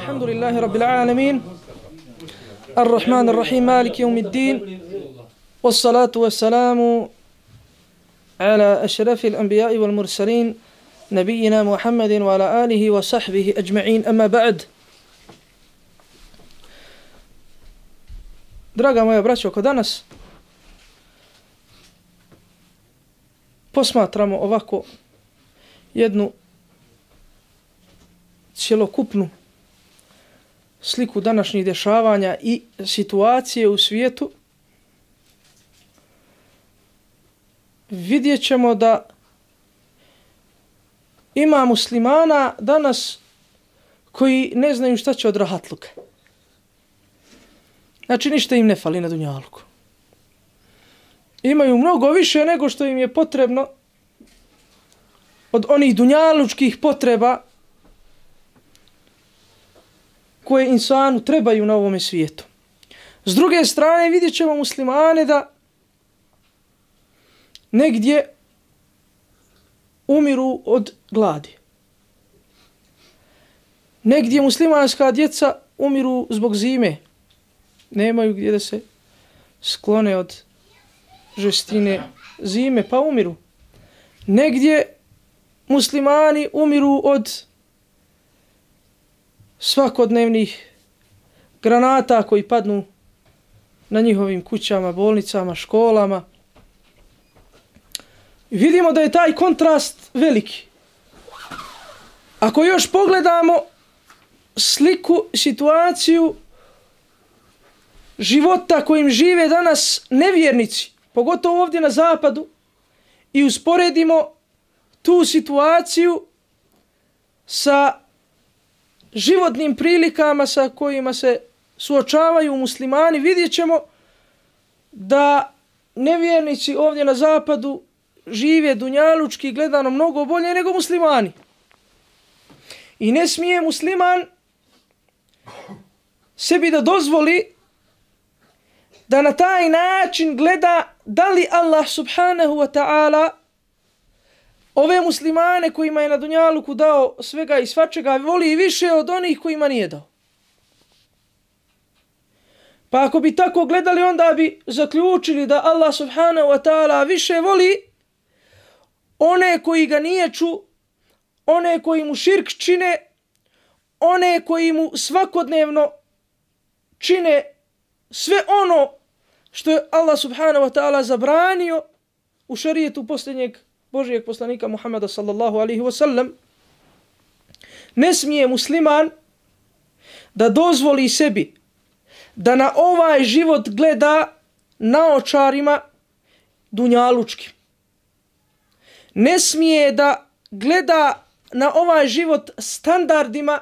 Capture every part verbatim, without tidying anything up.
الحمد لله رب العالمين الرحمن الرحيم مالك يوم الدين والصلاة والسلام على أشرف الأنبياء والمرسلين نبينا محمد وعلى آله وصحبه أجمعين أما بعد. Draga moja braćo, ko danas posmatramo ovako jednu cjelokupnu sliku današnjih dešavanja i situacije u svijetu, vidjet ćemo da ima muslimana danas koji ne znaju šta će od rahatluka. Znači ništa im ne fali na dunjaluku. Imaju mnogo više nego što im je potrebno od onih dunjalučkih potreba koje insanu trebaju na ovome svijetu. S druge strane vidjet ćemo muslimane da negdje umiru od gladi. Negdje muslimanska djeca umiru zbog zime. Nemaju gdje da se sklone od žestine zime, pa umiru. Negdje muslimani umiru od svakodnevnih granata koji padnu na njihovim kućama, bolnicama, školama. I vidimo da je taj kontrast veliki. Ako još pogledamo sliku, situaciju života kojim žive danas nevjernici, pogotovo ovdje na zapadu, i usporedimo tu situaciju sa životnim prilikama sa kojima se suočavaju muslimani, vidjet ćemo da nevjernici ovdje na zapadu žive dunjalučki gledano mnogo bolje nego muslimani. I ne smije musliman sebi da dozvoli da na taj način gleda da li Allah subhanahu wa ta'ala ove muslimane kojima je na dunjaluku dao svega i svačega voli više od onih kojima nije dao. Pa ako bi tako gledali, onda bi zaključili da Allah subhanahu wa ta'ala više voli one koji ga niječu, one koji mu širk čine, one koji mu svakodnevno čine sve ono što je Allah subhanahu wa ta'ala zabranio u šarijetu posljednjeg Božijeg poslanika Muhammeda sallallahu alaihi wa sallam. Ne smije musliman da dozvoli sebi da na ovaj život gleda naočarima dunjalučkim. Ne smije da gleda na ovaj život standardima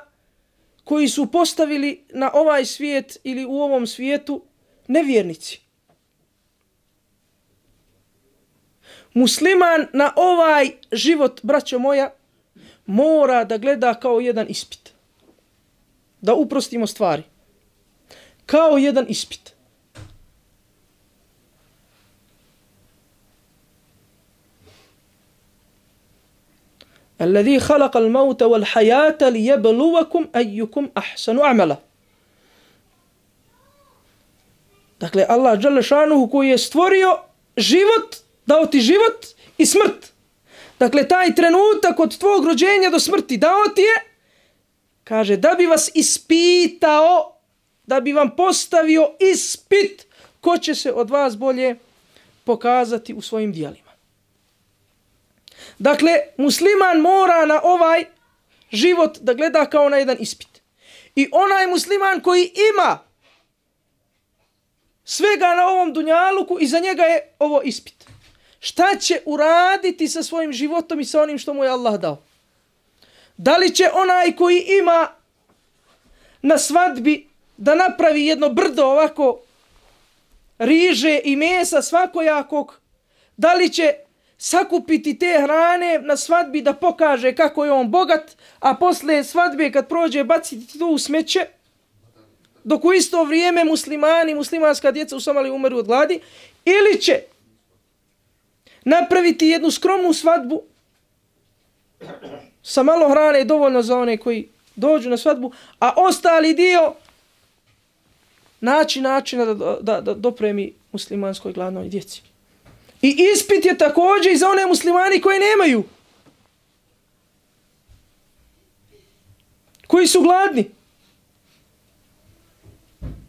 koji su postavili na ovaj svijet ili u ovom svijetu nevjernici. Musliman na ovaj život, braćo moja, mora da gleda kao jedan ispit. Da uprostimo stvari. Kao jedan ispit. Alladhi khalaqa al-mauta wal-hayata liyabluwakum ayyukum ahsanu amala. Dakle, Allah dželle šanuhu koji je stvorio život, dao ti život i smrt. Dakle, taj trenutak od tvog rođenja do smrti dao ti je, kaže, da bi vas ispitao, da bi vam postavio ispit ko će se od vas bolje pokazati u svojim dijelima. Dakle, musliman mora na ovaj život da gleda kao na jedan ispit. I onaj musliman koji ima svega na ovom dunjaluku, i za njega je ovo ispit. Šta će uraditi sa svojim životom i sa onim što mu je Allah dao? Da li će onaj koji ima na svadbi da napravi jedno brdo ovako riže i mesa svakojakog? Da li će sakupiti te hrane na svadbi da pokaže kako je on bogat, a posle svadbe kad prođe baciti to u smeće, dok u isto vrijeme muslimani, muslimanska djeca u Somaliji umeru od gladi? Ili će napraviti jednu skromnu svadbu sa malo hrane dovoljno za one koji dođu na svadbu, a ostali dio naći načina da, da, da dopremi muslimanskoj gladnoj djeci. I ispit je također i za one muslimani koji nemaju. Koji su gladni.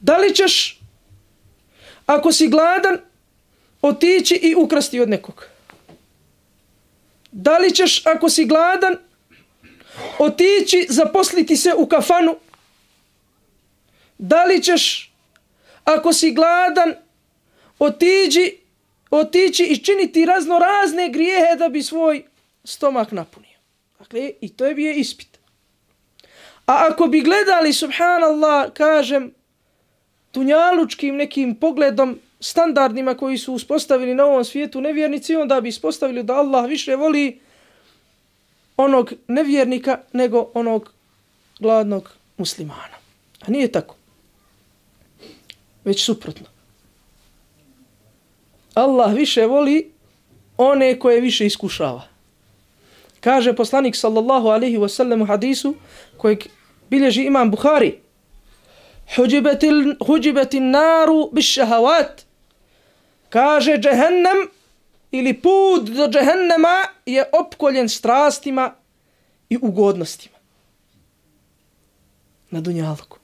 Da li ćeš, ako si gladan, otići i ukrasti od nekog? Da li ćeš, ako si gladan, otići zaposliti se u kafanu? Da li ćeš, ako si gladan, otići, otići i činiti razno razne grijehe da bi svoj stomak napunio? Dakle, i to je bio ispit. A ako bi gledali, subhanallah, kažem, dunjalučkim nekim pogledom, standardima koji su uspostavili na ovom svijetu nevjernici, onda bi ispostavili da Allah više voli onog nevjernika nego onog gladnog muslimana. A nije tako. Već suprotno. Allah više voli one koje više iskušava. Kaže poslanik sallallahu alaihi wa sallam u hadisu kojeg bilježi imam Buhari: Huđibeti naru bis šahavat. Kaže, džehennem ili put do džehennema je opkoljen strastima i ugodnostima. Na dunjalku.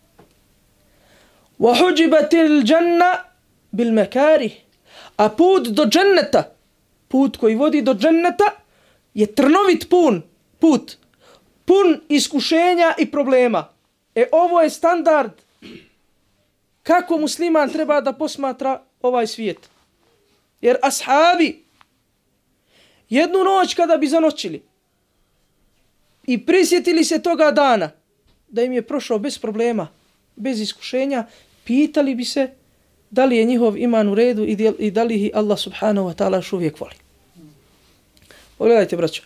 Wa huđibeti l'đanna bil mekari. A put do dženneta, put koji vodi do dženneta, je trnovit pun, put, pun iskušenja i problema. E ovo je standard kako musliman treba da posmatra ovaj svijet. Jer ashabi jednu noć kada bi zanoćili i prisjetili se toga dana da im je prošao bez problema, bez iskušenja, pitali bi se da li je njihov iman u redu i da li ih Allah subhanahu wa ta'ala još uvijek voli. Pogledajte, braćo.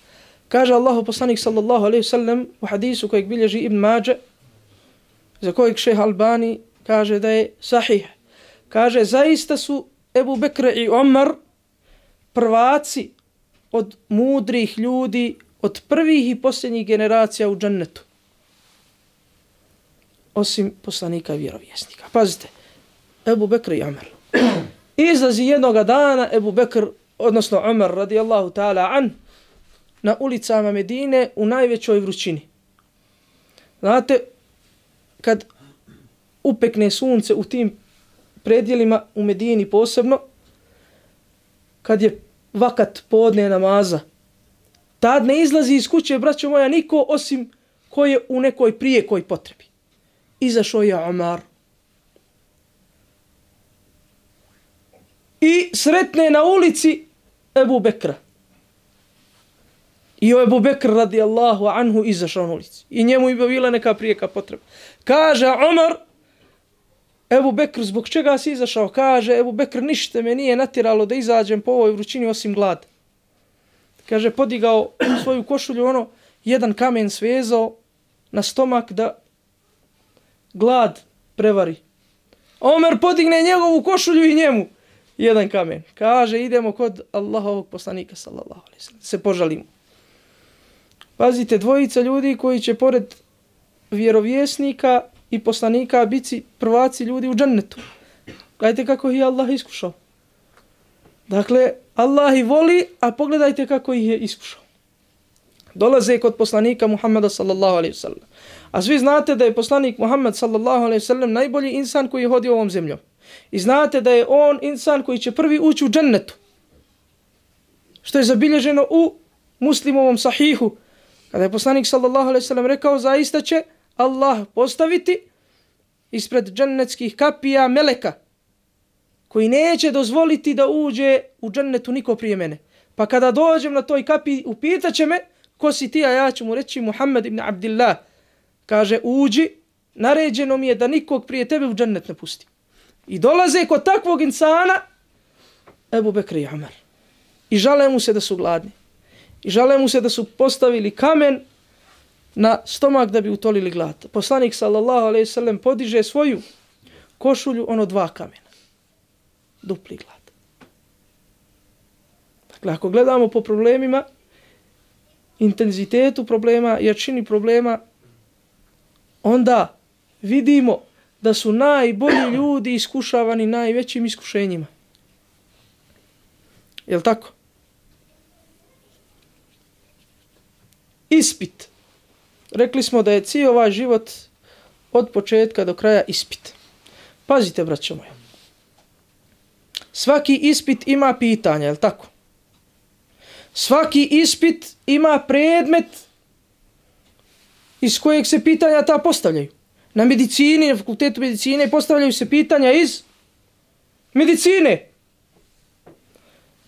Kaže Allahu poslanik sallallahu alaihi sallam u hadisu kojeg bilježi Ibn Mađe, za kojeg šejh Albani kaže da je sahih. Kaže, zaista su Ebu Bekr i Omar prvaci od mudrih ljudi, od prvih i posljednjih generacija u džennetu. Osim poslanika i vjerovjesnika. Pazite, Ebu Bekr i Omar. Izlazi jednoga dana Ebu Bekr, odnosno Omar radijallahu ta'ala an, na ulicama Medine u najvećoj vrućini. Znate, kad upekne sunce u tim predjelima u Medini posebno, kad je vakat podne namaza, tad ne izlazi iz kuće, braćo moja, niko osim ko je u nekoj prijekoj potrebi. Izašao je Omar. I sretne na ulici Ebu Bekra. I o Ebu Bekr radijallahu anhu izašao na ulici. I njemu je bila neka prijeka potreba. Kaže Omar, Ebu Bekr, zbog čega si izašao? Kaže, Ebu Bekr, ništa me nije natjeralo da izađem po ovoj vrućini osim glad. Kaže, podigao svoju košulju, ono, jedan kamen svezao na stomak da glad prevari. Omer podigne njegovu košulju i njemu jedan kamen. Kaže, idemo kod Allahovog poslanika, sallallahu alejhi ve sellem, se požalimo. Pazite, dvojica ljudi koji će pored vjerovjesnika i poslanika biti prvaci ljudi u džennetu. Gledajte kako ih je Allah iskušao. Dakle, Allah ih voli, a pogledajte kako ih je iskušao. Dolaze kod poslanika Muhammeda sallallahu alejhi ve sellem. A svi znate da je poslanik Muhammed sallallahu alejhi ve sellem najbolji insan koji je hodio ovom zemljom. I znate da je on insan koji će prvi ući u džennetu. Što je zabilježeno u Muslimovom sahihu. Kada je poslanik sallallahu alejhi ve sellem rekao, zaista će Allah postaviti ispred džennetskih kapija meleka koji neće dozvoliti da uđe u džennetu niko prije mene. Pa kada dođem na toj kapiji, upitaće me, ko si ti, a ja ću mu reći Muhammed ibn Abdillah. Kaže, uđi, naređeno mi je da nikog prije tebe u džennet ne pusti. I dolaze kod takvog insana Ebu Bekr i Omar. I žale mu se da su gladni. I žale mu se da su postavili kamen na stomak da bi utolili glad. Poslanik sallallahu alejhi ve sellem podiže svoju košulju, ono dva kamena. Dupli glad. Dakle, ako gledamo po problemima, intenzitetu problema, jačini problema, onda vidimo da su najbolji ljudi iskušavani najvećim iskušenjima. Jel' tako? Ispit. Rekli smo da je cijel ovaj život od početka do kraja ispit. Pazite, braćo moja. Svaki ispit ima pitanja, je li tako? Svaki ispit ima predmet iz kojeg se pitanja ta postavljaju. Na medicini, na fakultetu medicine postavljaju se pitanja iz medicine.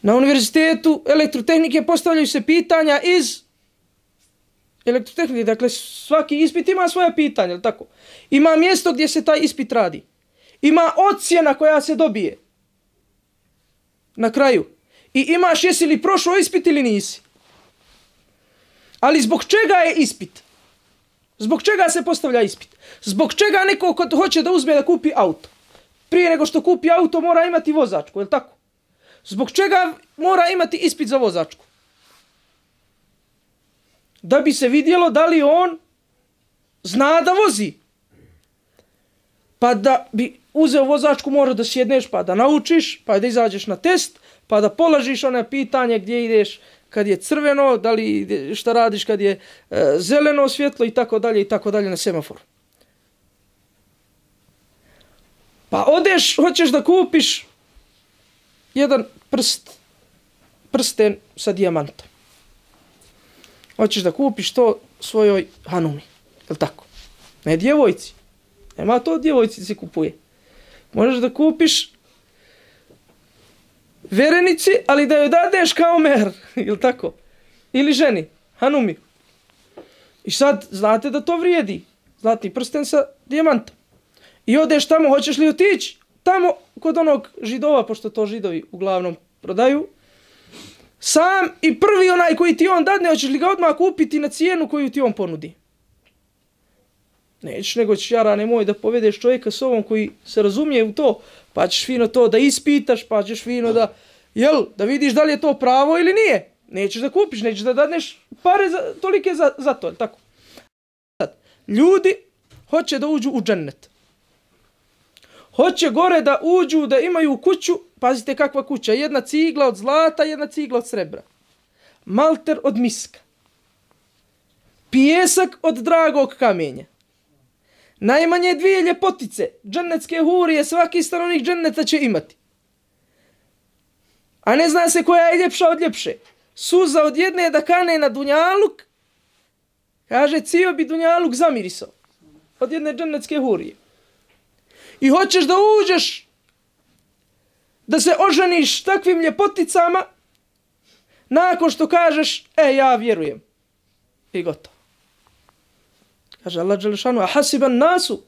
Na univerzitetu elektrotehnike postavljaju se pitanja iz elektrotehnike. Dakle, svaki ispit ima svoje pitanje, je li tako? Ima mjesto gdje se taj ispit radi. Ima ocjena koja se dobije na kraju. I imaš jesi li prošao ispit ili nisi. Ali zbog čega je ispit? Zbog čega se postavlja ispit? Zbog čega neko ko hoće da uzme da kupi auto? Prije nego što kupi auto mora imati vozačku, je li tako? Zbog čega mora imati ispit za vozačku? Da bi se vidjelo da li on zna da vozi. Pa da bi uzeo vozačku mora da sjedneš, pa da naučiš, pa da izađeš na test, pa da polažiš ono pitanje gdje ideš kad je crveno, da li šta radiš kad je e, zeleno svjetlo i tako dalje i tako dalje na semaforu. Pa odeš, hoćeš da kupiš jedan prst, prsten sa dijamantom. Hoćeš da kupiš to svojoj hanumi, je li tako? Ne djevojci. Nema to djevojci se kupuje. Možeš da kupiš verenici, ali da joj dadeš kao mer, je li tako? Ili ženi, hanumi. I sad, znate da to vrijedi. Zlatni prsten sa dijamantom. I odeš tamo, hoćeš li otići? Tamo, kod onog židova, pošto to židovi uglavnom prodaju, sam i prvi onaj koji ti on dadne, hoćeš li ga odmah kupiti na cijenu koju ti on ponudi? Nećeš, nego ćeš, jara, nemoj da povedeš čovjeka s ovom koji se razumije u to, pa ćeš fino to da ispitaš, pa ćeš fino da, jel, da vidiš da li je to pravo ili nije. Nećeš da kupiš, nećeš da dadneš pare za, tolike za, za to, tako? Ljudi hoće da uđu u džennet. Hoće gore da uđu, da imaju kuću, pazite kakva kuća, jedna cigla od zlata, jedna cigla od srebra. Malter od miska. Pijesak od dragog kamenja. Najmanje dvije ljepotice, džennetske hurije, svaki stanovnik dženneta će imati. A ne zna se koja je ljepša od ljepše. Suza od jedne da kane na dunjaluk, kaže, cijel bi dunjaluk zamirisao. Od jedne džennetske hurije. I hoćeš da uđeš, da se oženiš takvim ljepoticama, nakon što kažeš, e, ja vjerujem. I gotovo. Kaže Allah dželešanu, a hasiban nasu,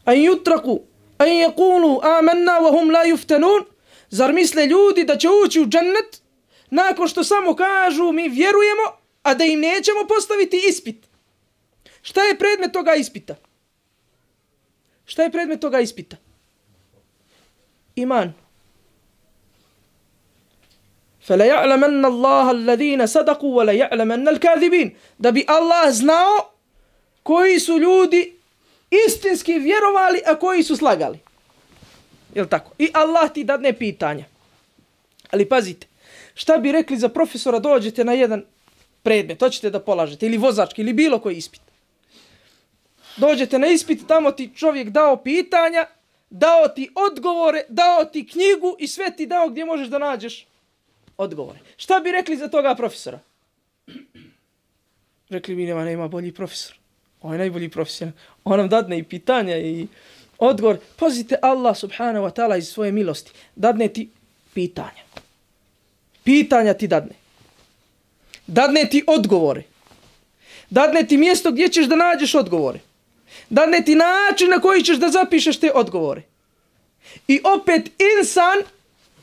an yutraku, an yaqulu amanna wa hum la yuftanun. Zar misle ljudi da će ući u džennet nakon što samo kažu mi vjerujemo, a da im nećemo postaviti ispit? Šta je predmet toga ispita? Šta je predmet toga ispita? Iman. Fala ya'lamanna Allah alladhina sadaqu wa la ya'lamanna al-kadhibin. Da bi Allah znao koji su ljudi istinski vjerovali, a koji su slagali. Jel tako? I Allah ti dadne pitanja. Ali pazite, šta bi rekli za profesora, dođete na jedan predmet, hoćete da polažete, ili vozački, ili bilo koji ispit. Dođete na ispit, tamo ti čovjek dao pitanja, dao ti odgovore, dao ti knjigu i sve ti dao gdje možeš da nađeš odgovore. Šta bi rekli za toga profesora? Rekli bi, nema, nema bolji profesor. On je najbolji profesor. On nam dadne i pitanja i odgovor. Pazite, Allah subhanahu wa ta'ala iz svoje milosti dadne ti pitanja. Pitanja ti dadne. Dadne ti odgovore. Dadne ti mjesto gdje ćeš da nađeš odgovore. Dadne ti način na koji ćeš da zapišeš te odgovore. I opet insan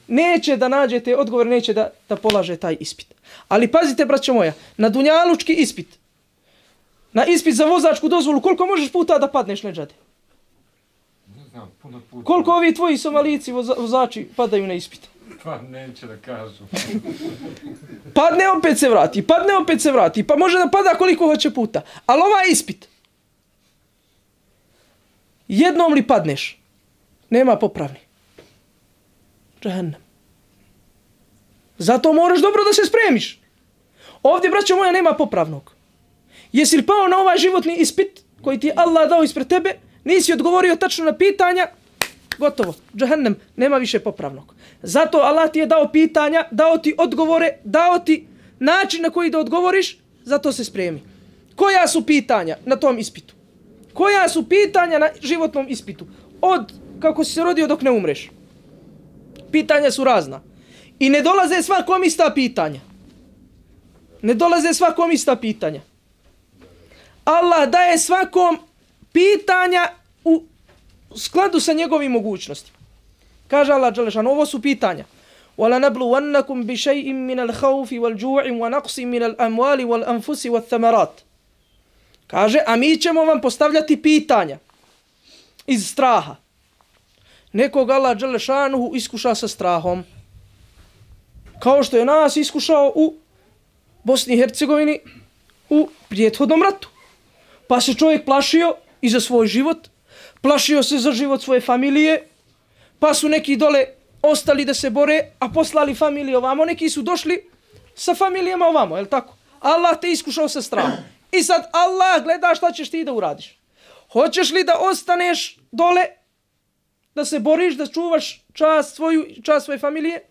neće da nađe te odgovore, neće da, da polaže taj ispit. Ali pazite, braćo moja, na dunjalučki ispit, na ispit za vozačku dozvolu, koliko možeš puta da padneš na džade? Ne znam, puno puta. Koliko ovi tvoji Somalici voza, vozači padaju na ispit? Pa neće da kažu. Padne, opet se vrati, padne, opet se vrati, pa može da pada koliko hoće puta. Ali ovaj ispit, Jednom li padneš, nema popravni. Džehennem. Zato moraš dobro da se spremiš. Ovdje, braćo moja, nema popravnog. Jesi li pao na ovaj životni ispit koji ti je Allah dao ispred tebe, nisi odgovorio tačno na pitanja, gotovo, džehennem, nema više popravnog. Zato Allah ti je dao pitanja, dao ti odgovore, dao ti način na koji da odgovoriš, zato se spremi. Koja su pitanja na tom ispitu? Koja su pitanja na životnom ispitu? Od kako si se rodio dok ne umreš. Pitanja su razna. I ne dolaze svakom ista pitanja. Ne dolaze svakom ista pitanja. Allah daje svakom pitanja u skladu sa njegovim mogućnostima. Kaže Allah dželešan, ovo su pitanja. وَلَنَبْلُوَنَّكُمْ بِشَيْءٍ مِنَ الْخَوْفِ وَالْجُوعِ وَنَقْصٍ مِنَ الْأَمْوَالِ وَالْأَنْفُسِ وَالثَّمَرَاتِ. Kaže, a mi ćemo vam postavljati pitanja iz straha. Nekog Allah dželešanuhu iskuša sa strahom. Kao što je nas iskušao u Bosni i Hercegovini u prethodnom ratu. Pa se čovjek plašio i za svoj život, plašio se za život svoje familije, pa su neki dole ostali da se bore, a poslali familije ovamo, neki su došli sa familijama ovamo, je li tako? Allah te iskušao sa strahom. I sad Allah gleda šta ćeš ti da uradiš. Hoćeš li da ostaneš dole, da se boriš, da čuvaš čast svoju, čast svoje familije?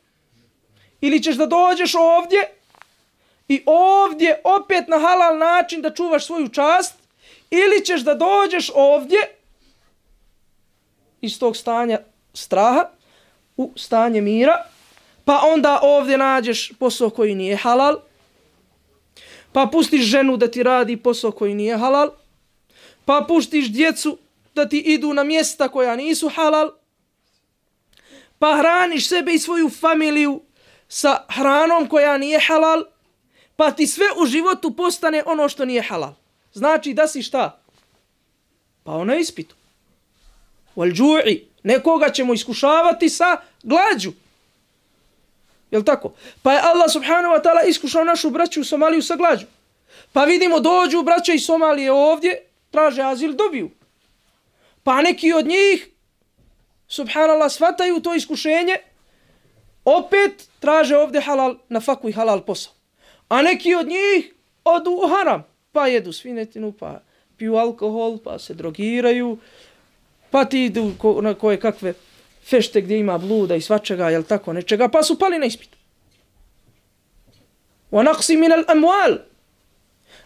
Ili ćeš da dođeš ovdje i ovdje opet na halal način da čuvaš svoju čast? Ili ćeš da dođeš ovdje iz tog stanja straha u stanje mira, pa onda ovdje nađeš posao koji nije halal, pa pustiš ženu da ti radi posao koji nije halal, pa pustiš djecu da ti idu na mjesta koja nisu halal, pa hraniš sebe i svoju familiju sa hranom koja nije halal, pa ti sve u životu postane ono što nije halal. Znači da si šta? Pao na ispitu. Wal džu'i. Nekoga ćemo iskušavati sa glađu. Jel' tako? Pa je Allah subhanahu wa ta'ala iskušao našu braću u Somaliju sa glađu. Pa vidimo, dođu braća iz Somalije ovdje, traže azil, dobiju. Pa neki od njih, subhanallah, shvataju to iskušenje, opet traže ovdje halal na faku i halal posao. A neki od njih odu u haram, pa jedu svinetinu, pa piju alkohol, pa se drogiraju, pa ti idu ko, na koje kakve fešte gdje ima bluda i svačega, jel tako, nečega, pa su pali na ispitu. وَنَقْسِ مِنَ الْأَمْوَالِ.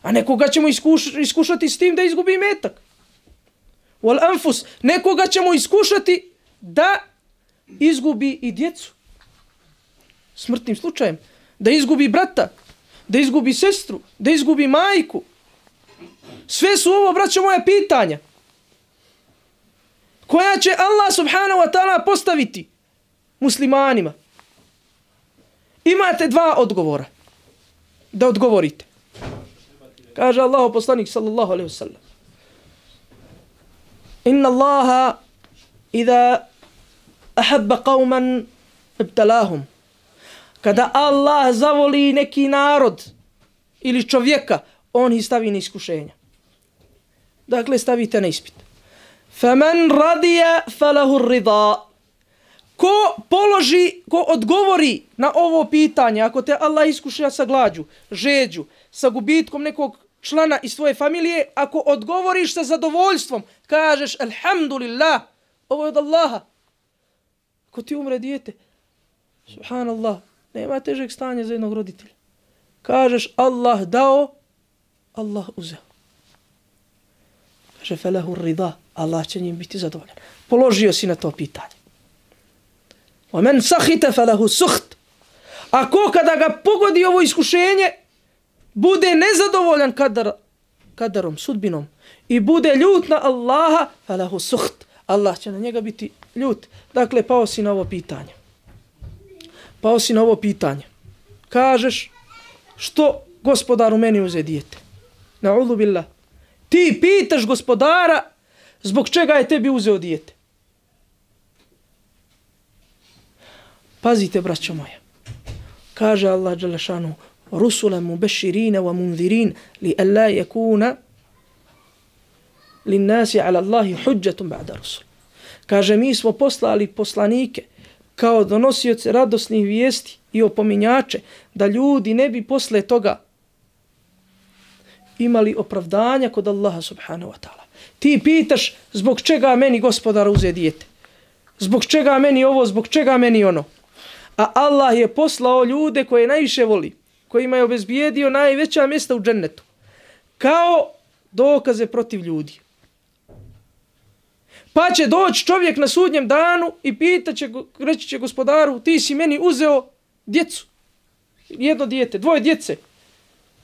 A nekoga ćemo iskuš, iskušati s tim da izgubi metak. وَالْأَنْفُسِ. Nekoga ćemo iskušati da izgubi i djecu. Smrtnim slučajem. Da izgubi brata, da izgubi sestru, da izgubi majku. Sve su ovo, braćo moja, pitanja koja će Allah subhanahu wa ta'ala postaviti muslimanima. Imate dva odgovora da odgovorite. Kaže Allah poslanik sallallahu alaihi wasallam: Inna Allaha idha ahabba qawman ibtalahum. Kada Allah zavoli neki narod ili čovjeka, on ih stavi na iskušenja. Dakle, stavite na ispit. Faman radiya falahu rida. Ko položi, ko odgovori na ovo pitanje, ako te Allah iskuša sa glađu, žeđu, sa gubitkom nekog člana iz svoje familije, ako odgovoriš sa zadovoljstvom, kažeš alhamdulillah, ovo je od Allaha. Ako ti umre dijete, subhanallah, nema težeg stanja za jednog roditelja. Kažeš Allah dao, Allah uzeo. Kaže falahu rida, Allah će njim biti zadovoljan. Položio si na to pitanje. وَمَنْ سَخِتَ فَلَهُ سُخْتِ. Ako kada ga pogodi ovo iskušenje, bude nezadovoljan kadar, kadarom, sudbinom, i bude ljut na Allaha, فَلَهُ سُخْتِ. Allah će na njega biti ljut. Dakle, pao si na ovo pitanje. Pao si na ovo pitanje. Kažeš, što gospodaru meni uze dijete? Na'udhu billah. Ti pitaš gospodara zbog čega je tebi uzeo dijete. Pazite, braćo moja. Kaže Allah dželle šanu: "Rusula mubashirina wa munzirin li alla yakuna linnasi ala Allahi hujjatun ba'da rusul. Kaže, mi smo poslali poslanike kao donosioce radosnih vijesti i opominjače, da ljudi ne bi posle toga imali opravdanja kod Allaha subhanahu wa ta'ala. Ti pitaš zbog čega meni gospodar uze dijete, zbog čega meni ovo, zbog čega meni ono. A Allah je poslao ljude koje najviše voli, kojima je obezbijedio najveća mjesta u džennetu, kao dokaze protiv ljudi. Pa će doći čovjek na sudnjem danu i pitaće, reći će gospodaru, ti si meni uzeo djecu, jedno dijete, dvoje djece.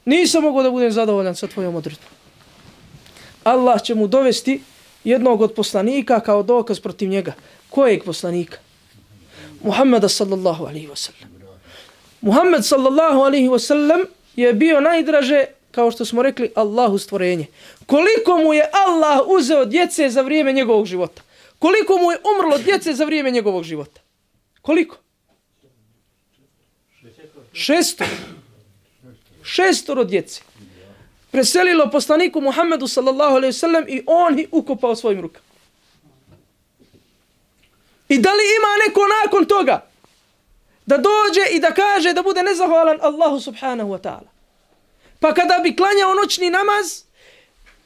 Nisam mogao da budem zadovoljan sa tvojom odredbom. Allah će mu dovesti jednog od poslanika kao dokaz protiv njega. Kojeg poslanika? Muhammeda sallallahu alaihi wasallam. Muhammed sallallahu alaihi wasallam je bio najdraže, kao što smo rekli, Allahu stvorenje. Koliko mu je Allah uzeo djece za vrijeme njegovog života? Koliko mu je umrlo djece za vrijeme njegovog života? Koliko? Šestoro. Šestoro djece. Preselilo poslaniku Muhammedu sallallahu alaihi wasallam i on ih ukopao svojim rukama. I da li ima neko nakon toga da dođe i da kaže da bude nezahvalan Allahu subhanahu wa ta'ala? Pa kada bi klanjao noćni namaz,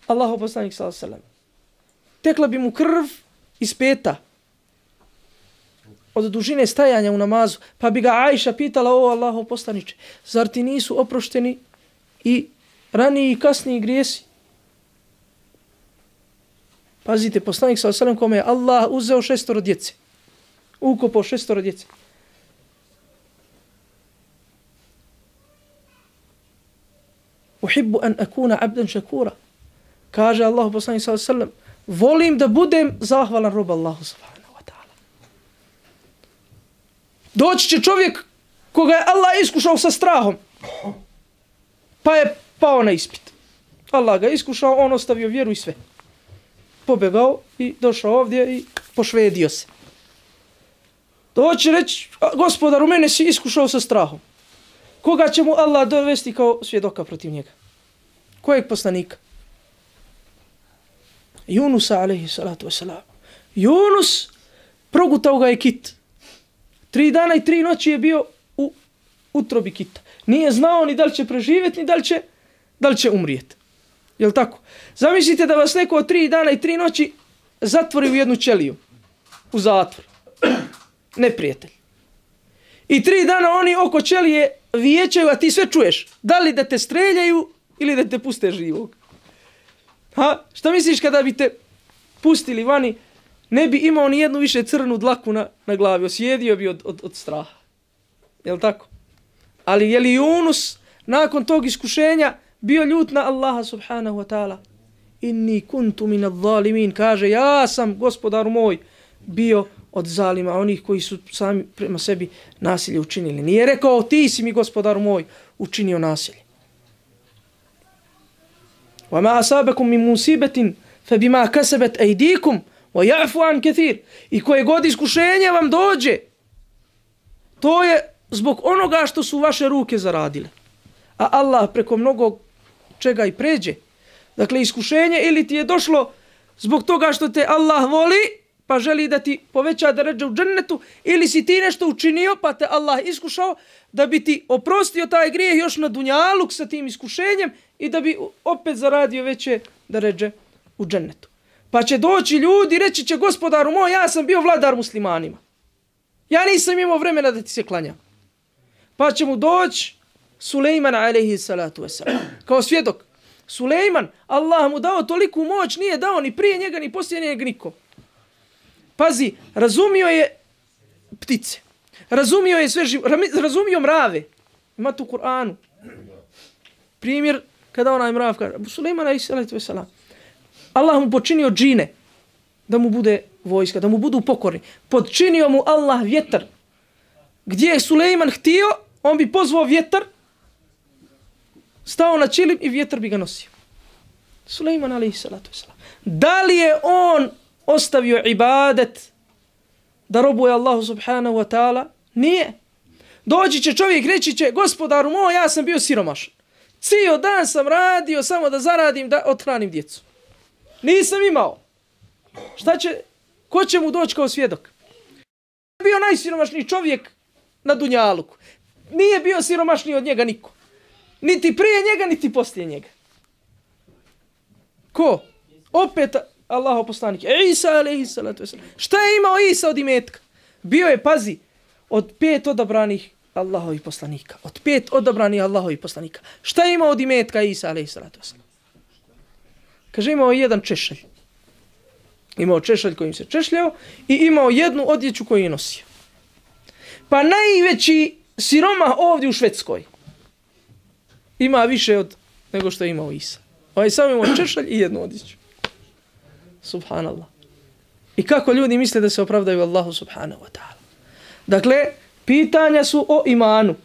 Allahu poslanik sallallahu alejhi ve sellem, tekla bi mu krv iz peta od dužine stajanja u namazu, pa bi ga Ajša pitala: o Allahu poslaniče, zar ti nisu oprošteni i raniji i kasniji grijesi? Pazite, poslanik sallallahu alejhi ve sellem kome je Allah uzeo šestoro djece, ukopao šestoro djece. Uhibbu an akuna abdan shakura. Kaže Allah poslanik sallallahu alejhi ve sellem, volim da budem zahvalan rob Allahu subhanahu wa ta'ala. Doći će čovjek koga je Allah iskušao sa strahom, pa je pao na ispit. Allah ga iskušao, on ostavio vjeru i sve. Pobegao i došao ovdje i pošvedio se. Doći reći: gospodaru, mene si iskušao sa strahom. Koga će mu Allah dovesti kao svjedoka protiv njega? Kojeg poslanika? Junusa alejhi salatu vesselam. Yunus, progutao ga je kit. Tri dana i tri noći je bio u utrobi kita. Nije znao ni da li će preživjeti, ni da li će, da li će umrijeti. Jel tako? Zamislite da vas neko od tri dana i tri noći zatvori u jednu ćeliju. U zatvor. Neprijatelj. I tri dana oni oko ćelije vijećaju, a ti sve čuješ. Da li da te streljaju ili da te puste živog. Ha? Šta misliš kada bi te pustili vani, ne bi imao ni jednu više crnu dlaku na, na glavi, osjedio bi od, od, od straha. Jel tako? Ali je li Yunus nakon tog iskušenja bio ljut na Allaha subhanahu wa ta'ala? Inni kuntu min adh-dhalimin. Kaže, ja sam, gospodaru moj, bio od zalima, onih koji su sami prema sebi nasilje učinili. Nije rekao: ti si mi, gospodaru moj, učinio nasilje. وَمَا أَصَابَكُمْ مِنْ مُصِيبَةٍ فَبِمَا كَسَبَتْ أَيْدِيكُمْ وَيَعْفُ عَنْ كَثِيرٍ. I koje god iskušenje vam dođe, to je zbog onoga što su vaše ruke zaradile. A Allah preko mnogo čega i pređe. Dakle, iskušenje ili ti je došlo zbog toga što te Allah voli, pa želi da ti poveća deredže u džennetu, ili si ti nešto učinio, pa te Allah iskušao da bi ti oprostio taj grijeh još na dunjaluk sa tim iskušenjem i da bi opet zaradio veće deredže u džennetu. Pa će doći ljudi i reći će: gospodaru moj, ja sam bio vladar muslimanima. Ja nisam imao vremena da ti se klanjam. Pa će mu doći Sulejman alejhi salatu vesselam kao svjedok. Sulejman, Allah mu dao toliku moć, nije dao ni prije njega ni poslije njega niko. Pazi, razumio je ptice, razumio je sve živo, razumio mrave. Ima tu u Kur'anu primjer kada onaj mrav kaže: Sulejman alejhi salatu vesselam, Allah mu počinio džine da mu bude vojska, da mu budu pokorni. Podčinio mu Allah vjetar. Gdje je Sulejman htio, on bi pozvao vjetar, stao na čilim i vjetar bi ga nosio. Sulejman alejhi salatu vesselam. Da li je on ostavio ibadet da robuje Allahu subhanahu wa ta'ala? Nije. Doći će čovjek, reći će: gospodaru moj, ja sam bio siromašan. Cijel dan sam radio samo da zaradim, da othranim djecu. Nisam imao. Šta će, ko će mu doći kao svjedok? Bio najsiromašniji čovjek na Dunjaluku. Nije bio siromašniji od njega niko. Niti prije njega, niti poslije njega. Ko? Opet Allahov poslanik. Isa alejhi salatu vesselam. Šta je imao Isa od imetka? Bio je, pazi, od pet odabranih Allahovih poslanika. Od pet odabranih Allahovih poslanika. Šta je imao od imetka Isa alejhi salatu vesselam? Kaže, imao jedan češalj. Imao češalj kojim se češljao i imao jednu odjeću koju je nosio. Pa najveći siroma ovdje u Švedskoj ima više od nego što je imao Isa. Ovaj sam imao češalj i jednu odjeću. Subhanallah. I kako ljudi misle da se opravdaju Allahu subhanahu wa ta'ala. Dakle, pitanja su o imanu.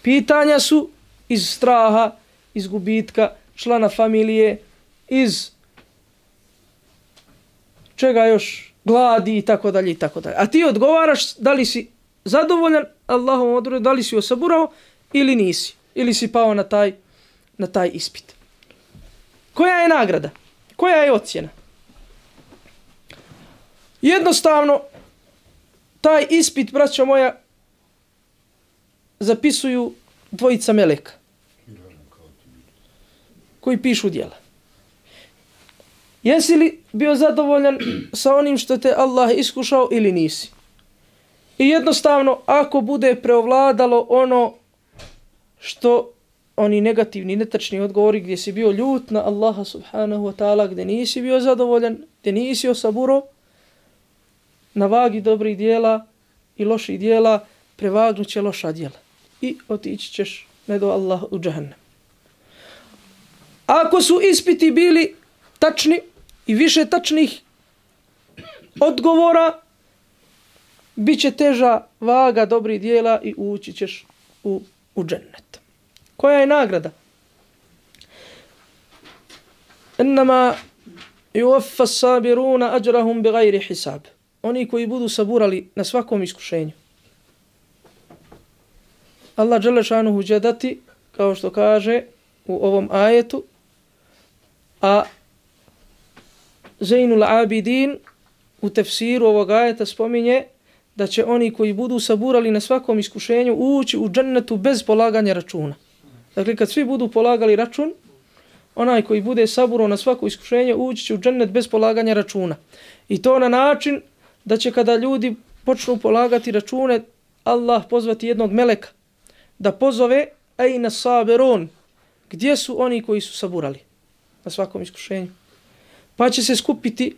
Pitanja su iz straha, iz gubitka člana familije, iz čega još, gladi i tako dalje i tako dalje. A ti odgovaraš da li si zadovoljan Allahom odredbom, da li si osaburao ili nisi. Ili si pao na taj, na taj ispit. Koja je nagrada? Koja je ocjena? Jednostavno, taj ispit, braćo moja, zapisuju dvojica meleka koji pišu djela. Jesi li bio zadovoljan sa onim što te Allah iskušao ili nisi? I jednostavno, ako bude preovladalo ono što oni negativni, netačni odgovori gdje si bio ljut na Allaha subhanahu wa ta'ala, gdje nisi bio zadovoljan, gdje nisi osaburo, na vagi dobrih dijela i loših dijela prevagnut će loša dijela. I otići ćeš ne do Allah u džahannam. Ako su ispiti bili tačni i više tačnih odgovora, bit će teža vaga dobrih dijela i ući ćeš u, u džennet. Koja je nagrada? Innama yuwaffa sabiruna ajrahum bighairi hisab. Oni koji budu saburali na svakom iskušenju. Allah dželle šanuhu će dati, kao što kaže u ovom ajetu, a Zainul Abidin u tefsiru ovog ajeta spominje da će oni koji budu saburali na svakom iskušenju ući u džennetu bez polaganja računa. Dakle, kad svi budu polagali račun, onaj koji bude saburao na svako iskušenje ući će u džennet bez polaganja računa. I to na način da će kada ljudi počnu polagati račune, Allah pozvati jednog meleka da pozove ejna sabirun, gdje su oni koji su saburali na svakom iskušenju. Pa će se skupiti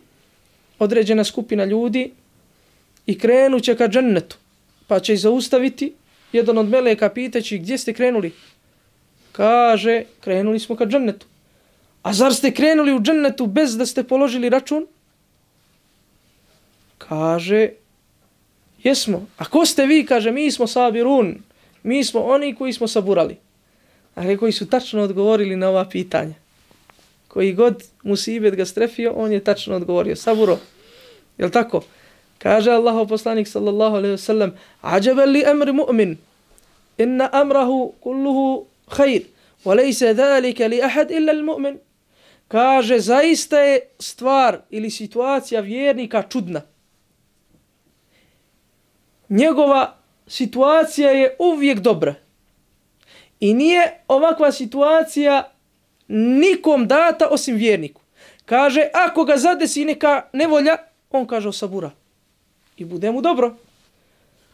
određena skupina ljudi i krenut će ka džennetu. Pa će ih zaustaviti jedan od meleka pitajući gdje ste krenuli. Kaže, krenuli smo ka džennetu. A zar ste krenuli u džennetu bez da ste položili račun? Kaže, jesmo. A ko ste vi? Kaže, mi smo sabirun. Mi smo oni koji smo saburali. A koji su tačno odgovorili na ova pitanja. Koji god musibet ga strefio, on je tačno odgovorio. Saburo. Jel tako? Kaže Allahov poslanik sallallahu alejhi ve sellem: "Ajaban li amri mu'min, inna amrahu kulluhu khair, wa laysa dhalika li ahad illa al-mu'min." Kaže, zaista je stvar ili situacija vjernika čudna. Njegova situacija je uvijek dobra. I nije ovakva situacija nikom data osim vjerniku. Kaže, ako ga zadesi neka nevolja, on kaže osabura. I bude mu dobro.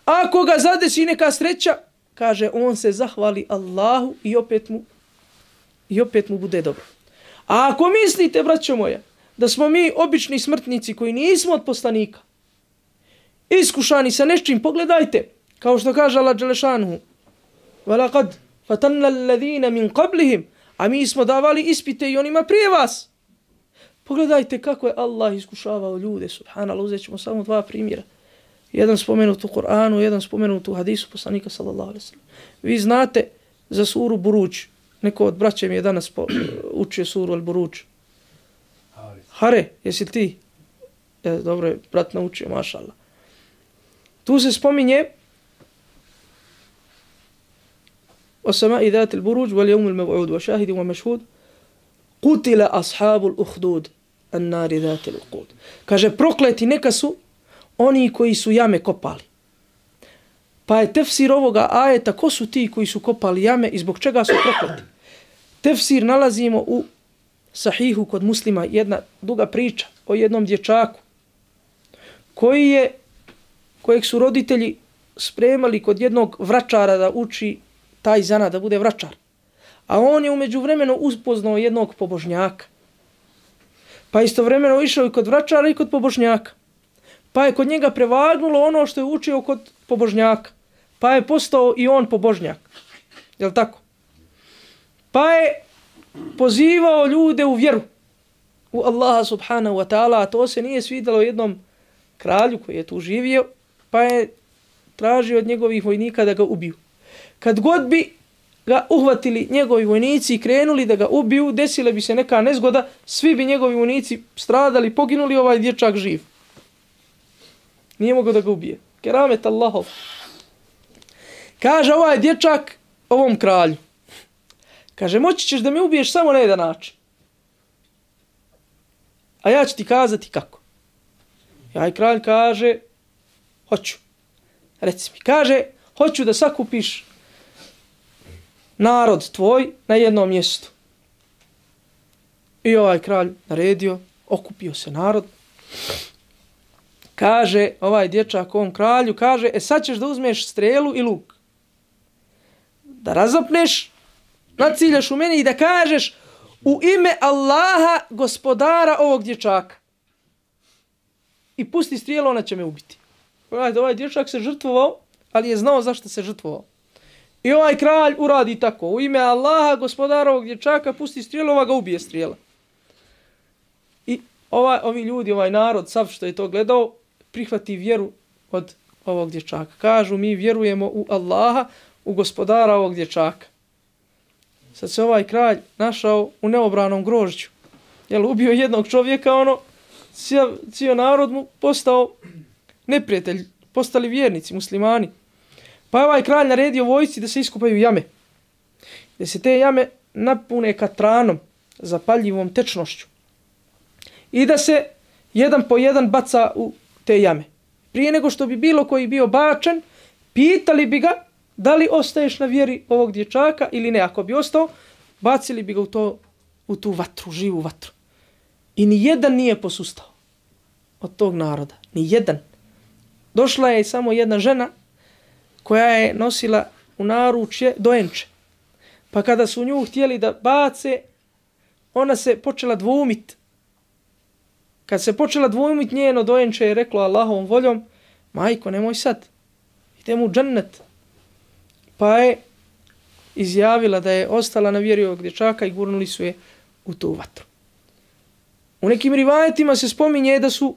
Ako ga zadesi neka sreća, kaže, on se zahvali Allahu i opet mu, i opet mu bude dobro. A ako mislite, braćo moja, da smo mi obični smrtnici koji nismo od poslanika, iskušani sa nečim, pogledajte, kao što kaže Allah dželle šanuhu: "Walaqad fatanna alladhina min qablihim", a mi smo davali ispite i onima prije vas. Pogledajte kako je Allah iskušavao ljude, subhanallah. Uzet ćemo samo dva primjera. Jedan spomenut u Kur'anu, jedan spomenut u hadisu poslanika sallallahu alejhi ve sellem. Vi znate za suru Buruđ. Neko od braća mi je danas po, učio suru Al-Buruđ. Hare, jesi ti? E, dobro je, brat naučio, mašallah. Tu se spominje وَسَمَاءِ ذَاتِ الْبُرُوجِ وَالْيَوْمِ الْمَوْعُودِ وَشَاهِدٍ وَمَشْهُودٍ قُتِلَ أَصْحَابُ الْأُخْدُودِ. an-nari dhatil uqud. Kaže, prokleti neka su oni koji su jame kopali. Pa je tefsir ovoga ajeta, ko su ti koji su kopali jame i zbog čega su prokleti? Tefsir nalazimo u Sahihu kod Muslima, jedna duga priča o jednom dječaku koji je, kojeg su roditelji spremali kod jednog vračara da uči taj zanat, da bude vračar. A on je umeđu vremenu uspoznao jednog pobožnjaka. Pa istovremeno išao i kod vračara i kod pobožnjaka. Pa je kod njega prevagnulo ono što je učio kod pobožnjaka. Pa je postao i on pobožnjak. Jel tako? Pa je pozivao ljude u vjeru. U Allaha subhanahu wa ta'ala. A to se nije svidjelo jednom kralju koji je tu živio. Pa je tražio od njegovih vojnika da ga ubiju. Kad god bi ga uhvatili njegovi vojnici i krenuli da ga ubiju, desile bi se neka nezgoda, svi bi njegovi vojnici stradali, poginuli, ovaj dječak živ. Nije mogao da ga ubije. Keramet Allahov. Kaže ovaj dječak ovom kralju. Kaže, moći ćeš da me ubiješ samo na jedan način. A ja ću ti kazati kako. Ja i kralj kaže, hoću. Reci mi. Kaže, hoću da sakupiš narod tvoj na jednom mjestu. I ovaj kralj naredio, okupio se narod. Kaže ovaj dječak ovom kralju, kaže, e sad ćeš da uzmeš strelu i luk. Da razapneš, naciljaš u meni i da kažeš u ime Allaha, gospodara ovog dječaka. I pusti strijelu, ona će me ubiti. Ovaj, ovaj dječak se žrtvovao, ali je znao zašto se žrtvovao. I ovaj kralj uradi tako. U ime Allaha, gospodara ovog dječaka, pusti strijelu, ova ga ubije strijela. I ovaj, ovi ljudi, ovaj narod, sav što je to gledao, prihvati vjeru od ovog dječaka. Kažu, mi vjerujemo u Allaha, u gospodara ovog dječaka. Sad se ovaj kralj našao u neobranom grožđu. Jel, ubio jednog čovjeka, ono, cijel, cijel narod mu postao neprijatelj, postali vjernici, muslimani. Pa je ovaj kralj naredio vojsci da se iskupaju jame. Da se te jame napune katranom, zapaljivom tečnošću. I da se jedan po jedan baca u te jame. Prije nego što bi bilo koji bio bačen, pitali bi ga da li ostaješ na vjeri ovog dječaka ili ne. Ako bi ostao, bacili bi ga u, to, u tu vatru, živu vatru. I ni jedan nije posustao od tog naroda. Ni jedan. Došla je samo jedna žena koja je nosila u naručje dojenče. Pa kada su nju htjeli da bace, ona se počela dvumit. Kad se počela dvumit, njeno dojenče je reklo Allahovom voljom, majko, nemoj sad, idemo u džennet. Pa je izjavila da je ostala na vjeri ovog dječaka i gurnuli su je u tu vatru. U nekim rivajetima se spominje da su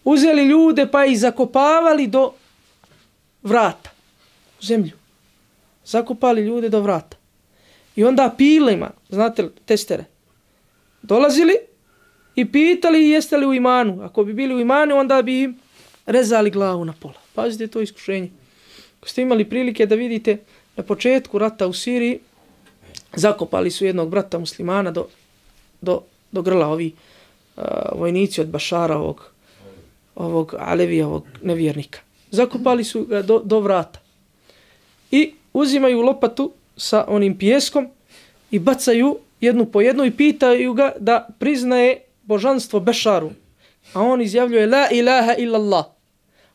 uzeli ljude pa ih zakopavali do vrata, u zemlju. Zakopali ljude do vrata. I onda pilima, znate li, testere, dolazili i pitali jeste li u imanu. Ako bi bili u imanu, onda bi im rezali glavu na pola. Pazite to iskušenje. Ako ste imali prilike da vidite na početku rata u Siriji, zakopali su jednog brata muslimana do, do, do grla, ovi uh, vojnici od Bašara, ovog, ovog Alevija, ovog nevjernika. Zakopali su ga do, do vrata. I uzimaju lopatu sa onim pijeskom i bacaju jednu po jednu i pitaju ga da priznaje božanstvo Bešaru. A on izjavljuje la ilaha illallah.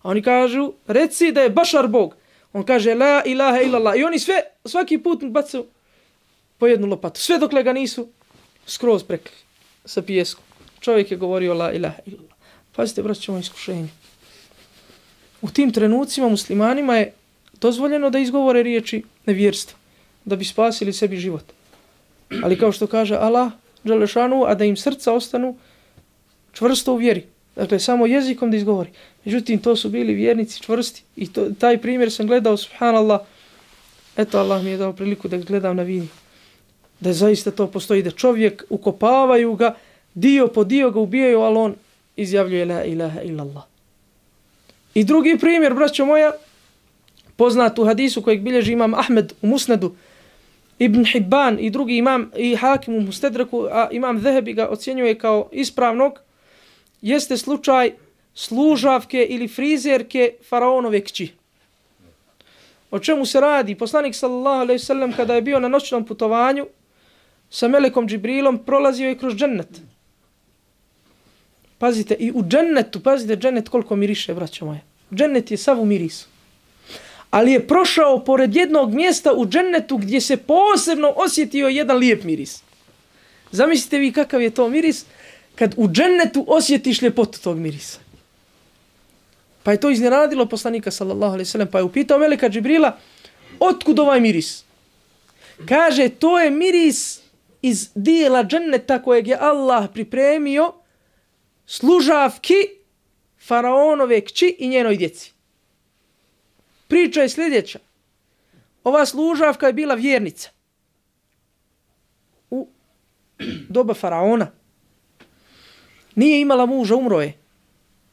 A oni kažu, reci da je Bašar Bog. On kaže la ilaha illallah. I oni sve, svaki put bacaju po jednu lopatu. Sve dokle ga nisu skroz prekli sa pijeskom. Čovjek je govorio la ilaha illallah. Pazite, braćo, iskušenje. U tim trenucima muslimanima je dozvoljeno da izgovore riječi nevjerstva, da bi spasili sebi život. Ali kao što kaže Allah, Đelešanu, a da im srca ostanu čvrsto u vjeri. Dakle, samo jezikom da izgovori. Međutim, to su bili vjernici čvrsti. I to, taj primjer sam gledao, subhanallah. Eto, Allah mi je dao priliku da gledam na vini. Da zaista to postoji, da čovjek ukopavaju ga, dio po dio ga ubijaju, ali on izjavljuje la ilaha illallah. I drugi primjer, braćo moja, poznat u hadisu kojeg bilježi imam Ahmed u Musnedu, Ibn Hibban i drugi imam i Hakim u Mustedreku, a imam Zehebi ga ocjenjuje kao ispravnog, jeste slučaj služavke ili frizerke faraonove kći. O čemu se radi? Poslanik sallallahu alejhi ve sellem kada je bio na noćnom putovanju sa melekom Džibrilom prolazio je kroz džennet. Pazite, i u džennetu, pazite džennet koliko miriše, braćo moje. Džennet je sav u mirisu. Ali je prošao pored jednog mjesta u džennetu gdje se posebno osjetio jedan lijep miris. Zamislite vi kakav je to miris kad u džennetu osjetiš ljepotu tog mirisa. Pa je to iznenadilo poslanika sallallahu alejhi ve sellem, pa je upitao meleka Džibrila, otkud ovaj miris? Kaže, to je miris iz dijela dženneta kojeg je Allah pripremio služavki faraonove kći i njenoj djeci. Priča je sljedeća. Ova služavka je bila vjernica u doba faraona. Nije imala muža, umro je.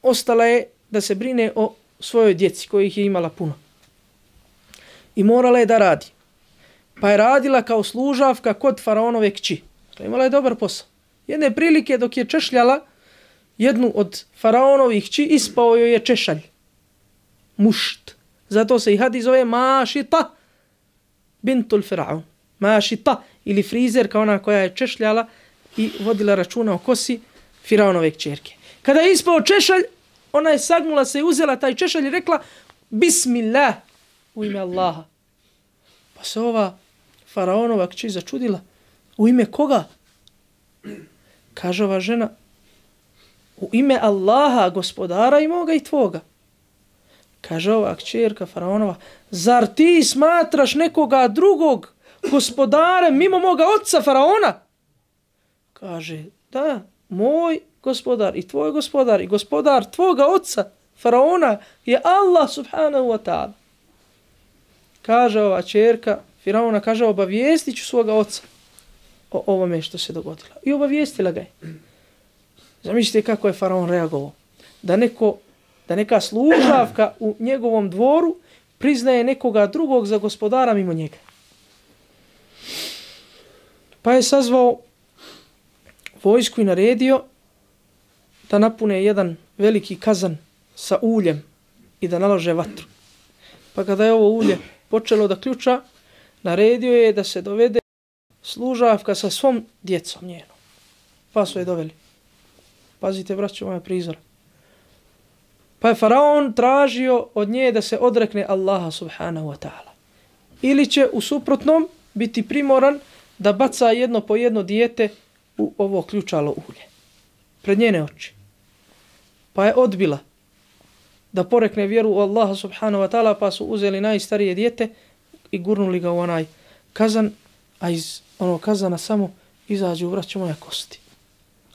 Ostala je da se brine o svojoj djeci kojih je imala puno. I morala je da radi. Pa je radila kao služavka kod faraonove kći. Imala je dobar posao. Jedne prilike dok je češljala jednu od faraonovih kći, ispao joj je češalj. Mušt. Zato se i hadis zove Mašita bintul Firaun. Mašita ili frizerka, ona koja je češljala i vodila računa o kosi Firaonove kćerke. Kada je ispao češalj, ona je sagnula se i uzela taj češalj i rekla Bismillah, u ime Allaha. Pa se ova faraonova kći začudila. U ime koga? Kaže ova žena, u ime Allaha, gospodara i moga i tvoga. Kaže ova kćerka faraonova, zar ti smatraš nekoga drugog gospodare mimo moga oca faraona? Kaže, da, moj gospodar i tvoj gospodar i gospodar tvoga oca faraona je Allah subhanahu wa ta'ala. Kaže ova kćerka faraona, kaže, obavijestit ću svoga oca o ovome što se dogodilo. I obavijestila ga je. Zamislite kako je faraon reagovao. Da neko da neka služavka u njegovom dvoru priznaje nekoga drugog za gospodara mimo njega. Pa je sazvao vojsku i naredio da napune jedan veliki kazan sa uljem i da nalože vatru. Pa kada je ovo ulje počelo da ključa, naredio je da se dovede služavka sa svom djecom njenom. Pa su je doveli. Pazite, braćo, moja prizora. Pa je faraon tražio od nje da se odrekne Allaha subhanahu wa ta'ala. Ili će u suprotnom biti primoran da baca jedno po jedno dijete u ovo ključalo ulje. Pred njene oči. Pa je odbila da porekne vjeru u Allaha subhanahu wa ta'ala, pa su uzeli najstarije dijete i gurnuli ga u onaj kazan, a iz onog kazana samo izađu, vraću moja kosti.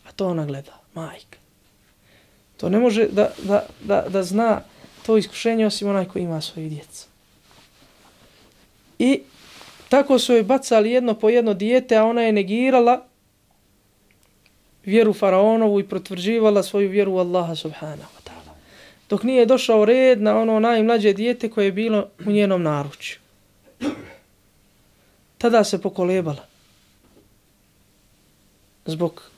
A to ona gleda, majka. To ne može da, da, da, da zna to iskušenje osim onaj koji ima svoje djeca. I tako su joj bacali jedno po jedno dijete, a ona je negirala vjeru faraonovu i potvrđivala svoju vjeru u Allaha subhanahu wa ta'ala. Dok nije došao red na ono najmlađe dijete koje je bilo u njenom naručju. Tada se pokolebala. Zbog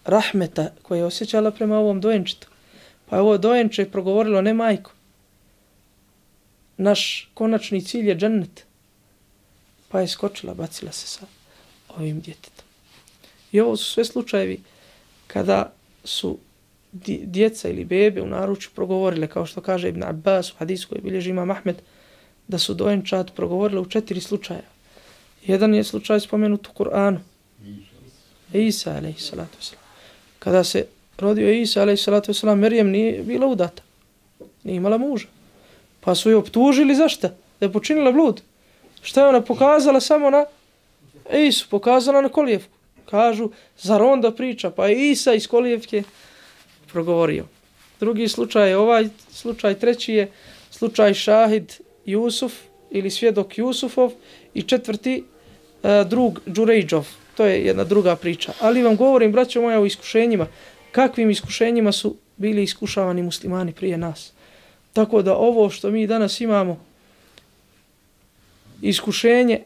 rahmeta koje je osjećala prema ovom dojenčetu. Pa je ovo dojenče progovorilo, ne majko. Naš konačni cilj je džennet. Pa je skočila, bacila se sa ovim djetetom. I ovo su sve slučajevi kada su djeca ili bebe u naručju progovorile, kao što kaže Ibn Abbas u hadisu koji bilježi imam Ahmed, da su dojenčad progovorile u četiri slučaja. Jedan je slučaj spomenut u Kur'anu. Isa, alejhi salatu vesselam. Kada se rodio Isa, alejhi salatu vesselam, Merijem nije bila udata. Nije imala muža. Pa su je optužili zašto? Da je počinila blud. Šta je ona pokazala samo na Isu, pokazala na kolijevku. Kažu, zar onda priča? Pa je Isa iz kolijevke progovorio. Drugi slučaj je ovaj slučaj, treći je slučaj šahid Jusuf ili svjedok Jusufov i četvrti uh, drug Đurejđov. To je jedna druga priča. Ali vam govorim, braćo moja, o iskušenjima. Kakvim iskušenjima su bili iskušavani muslimani prije nas. Tako da ovo što mi danas imamo, iskušenje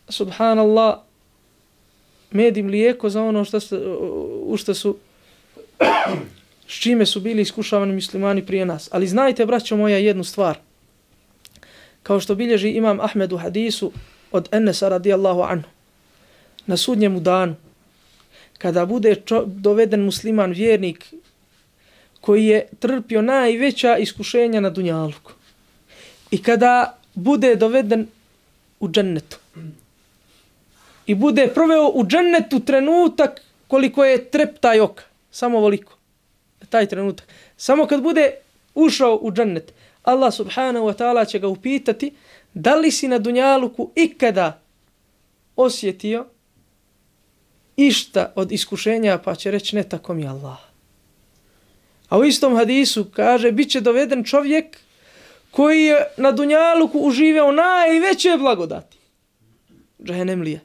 subhanallah, med i mlijeko za ono što su, u što su, s čime su bili iskušavani muslimani prije nas. Ali znajte, braćo moja, jednu stvar. Kao što bilježi imam Ahmed u hadisu od Enesa radijallahu anhu. Na sudnjemu danu, kada bude čo, doveden musliman vjernik koji je trpio najveća iskušenja na dunjaluku i kada bude doveden u džennetu i bude proveo u džennetu trenutak koliko je treptaj oka, samo voliko, taj trenutak, samo kad bude ušao u džennet, Allah subhanahu wa ta'ala će ga upitati da li si na dunjaluku ikada osjetio išta od iskušenja, pa će reći ne, tako mi Allah. A u istom hadisu kaže, bit će doveden čovjek koji je na dunjaluku uživao najveće blagodati. Džehennemlije.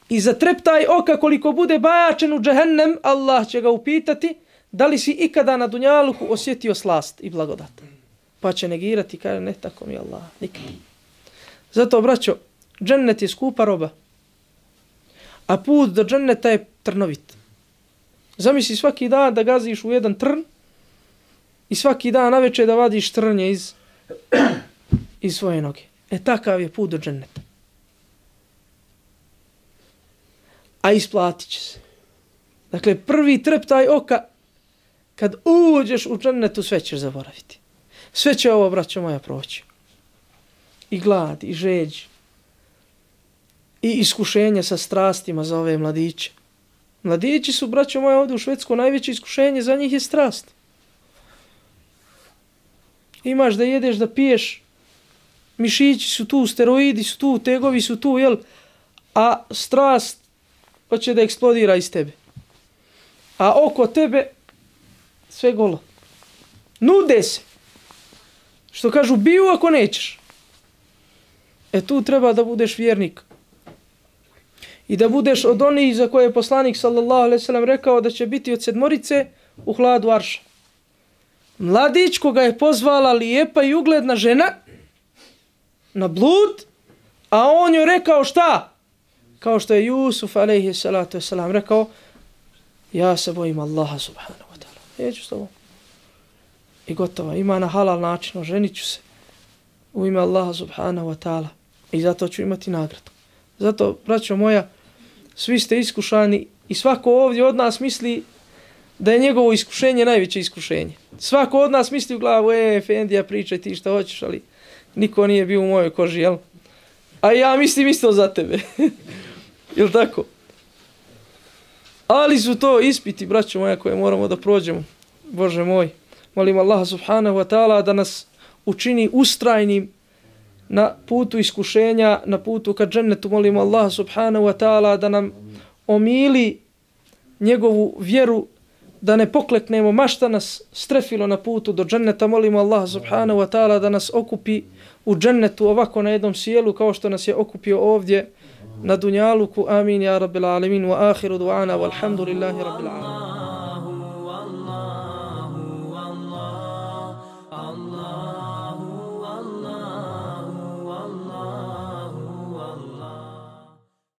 I za treptaj oka koliko bude bačen u džehennem, Allah će ga upitati da li si ikada na dunjaluku osjetio slast i blagodat. Pa će negirati, kaže ne, tako mi Allah, nikad. Zato, braćo, džennet je skupa roba. A put do dženneta je trnovit. Zamisli svaki dan da gaziš u jedan trn i svaki dan navečer da vadiš trnje iz, iz svoje noge. E takav je put do dženneta. A isplatit će se. Dakle, prvi treptaj oka, kad uđeš u džennetu, sve ćeš zaboraviti. Sve će ovo, braćo moja, proći. I glad, i žeđ, i iskušenje sa strastima za ove mladiće. Mladići su, braćo moja, ovdje u Švedskoj, najveće iskušenje za njih je strast. Imaš da jedeš, da piješ, mišići su tu, steroidi su tu, tegovi su tu, jel? A strast hoće da eksplodira iz tebe. A oko tebe sve golo. Nude se. Što kažu, biju ako nećeš. E tu treba da budeš vjernik. I da budeš od onih za koje je poslanik sallallahu alejhi ve sellem rekao da će biti od sedmorice u hladu arša. Mladić koga je pozvala lijepa i ugledna žena na blud, a on joj rekao šta? Kao što je Jusuf alejhi salatu vesselam rekao, ja se bojim Allaha subhanahu wa ta'ala. Neću s tobom. I gotovo, ima na halal način, oženit ću se u ime Allaha subhanahu wa ta'ala. I zato ću imati nagradu. Zato, braćo moja, svi ste iskušani i svako ovdje od nas misli da je njegovo iskušenje najveće iskušenje. Svako od nas misli u glavu, e, Efendija, pričaj ti šta hoćeš, ali niko nije bio u mojoj koži, jel? A ja mislim isto za tebe. Jel tako? Ali su to ispiti, braćo moja, koje moramo da prođemo. Bože moj, molim Allaha subhanahu wa ta'ala da nas učini ustrajnim na putu iskušenja, na putu ka džennetu. Molim Allaha subhanahu wa ta'ala da nam omili njegovu vjeru, da ne pokleknemo, ma šta nas strefilo na putu do dženneta. Molimo Allaha subhanahu wa ta'ala da nas okupi u džennetu ovako na jednom sjelu kao što nas je okupio ovdje na dunjaluku. Amin ya rabbil alamin. Wa akhiru du'ana walhamdulillahi rabbil alamin.